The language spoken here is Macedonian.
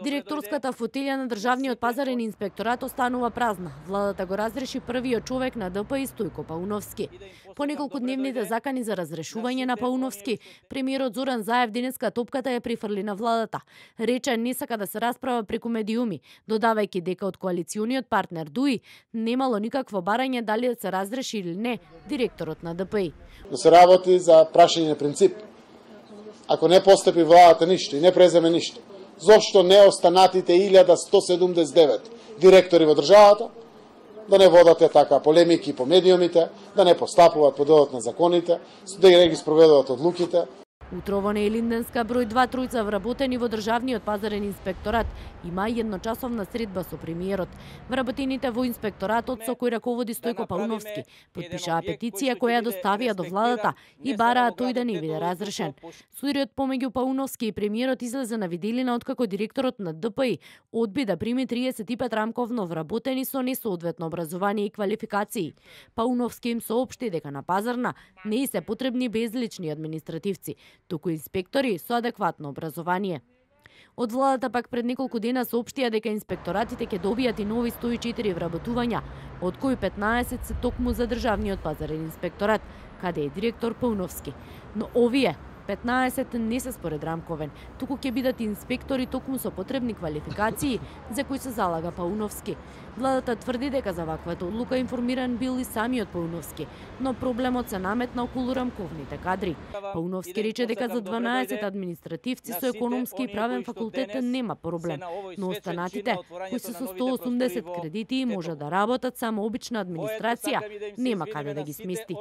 Директорската фотелја на Државниот пазарен инспекторат останува празна. Владата го разреши првиот човек на ДПИ Стојко Пауновски. По неколкудневните закани за разрешување на Пауновски, премиерот Зоран Заев денеска топката ја прифрли на владата. Рече не сака да се расправа преку медиуми, додавајќи дека од коалициониот партнер ДУИ немало никакво барање дали да се разреши или не директорот на ДПИ. Да се работи за прашање принцип. Ако не постапи владата ништо и не преземе ништо, зошто не останатите 1179 директори во државата да не водате така полемики по медиумите, да не постапуваат по делот на законите, да не ги спроведуваат одлуките. Утрово на Елинденска број 2 тројца вработени во Државниот пазарен инспекторат има едночасовна средба со премиерот. Вработените во инспекторатот со кој раководи Стојко Пауновски потпишаа петиција која ја доставија до владата и бараа тој да не биде разрешен. Судирот помеѓу Пауновски и премиерот излезе на виделина откако директорот на ДПИ одби да прими 35 рамковно вработени со несоодветно образование и квалификации. Пауновски им соопшти дека на пазарна не се потребни безлични административци, туку инспектори со адекватно образование. Од владата пак пред неколку дена соопштија дека инспекторатите ќе добијат и нови 104 вработувања, од кои 15 се токму за Државниот пазарен инспекторат, каде е директор Пауновски. Но овие 15 не се според рамковен, туку ќе бидат инспектори токму со потребни квалификации за кои се залага Пауновски. Владата тврди дека за ваквата одлука информиран бил и самиот Пауновски, но проблемот се наметна околу рамковните кадри. Пауновски рече дека за 12 административци со економски и правен факултет нема проблем, но останатите, кои се со 180 кредити и може да работат само обична администрација, нема каде да ги смести.